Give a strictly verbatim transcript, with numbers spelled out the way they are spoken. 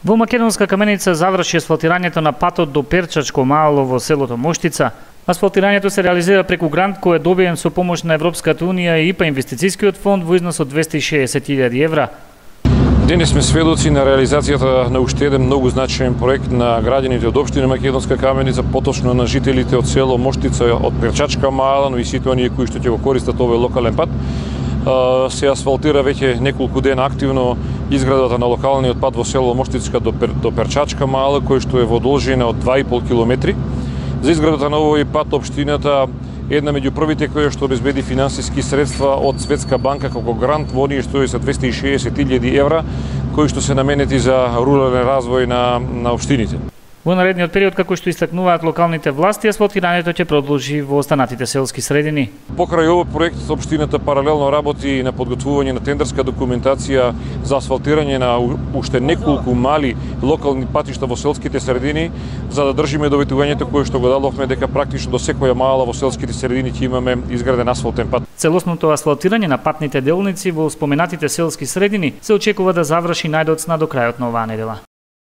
Во Македонска каменица заврши асфалтирањето на патот до Перчачко мало во селото Моштица. Асфалтирањето се реализира преку грант кој е добиен со помош на Европската унија и ИПА инвестицискиот фонд во износ од двесте и шеесет илјади евра. Денес сме сведоци на реализацијата на уште еден многу значаен проект на граѓаните од општина Македонска каменица, поточно на жителите од село Моштица, од Перчачка мала, но и сите оние кои што ќе го користат овој локален пат. Се асфалтира веќе неколку дена активно изградата на локалниот пат во село Моштица до, Пер, до Перчачка мала, кој што е во должина од два и пол километри. За изградата на овој пат општината една меѓу првите која што обезбеди финансиски средства од Светска банка како грант во оние што е за двесте и шеесет илјади евра, кои што се наменети за рурален развој на, на општините. Во наредниот период, како што истакнуваат локалните власти, асфалтирањето ќе продолжи во останатите селски средини. Покрај овој проект, општината паралелно работи на подготвување на тендерска документација за асфалтирање на уште неколку мали локални патишта во селските средини, за да држиме доветувањето кое што го дадовме дека практично до секоја мала во селските средини ќе имаме изграден асфалтен пат. Целосното асфалтирање на патните делници во споменатите селски средини се очекува да заврши најдоцна до крајот на оваа недела.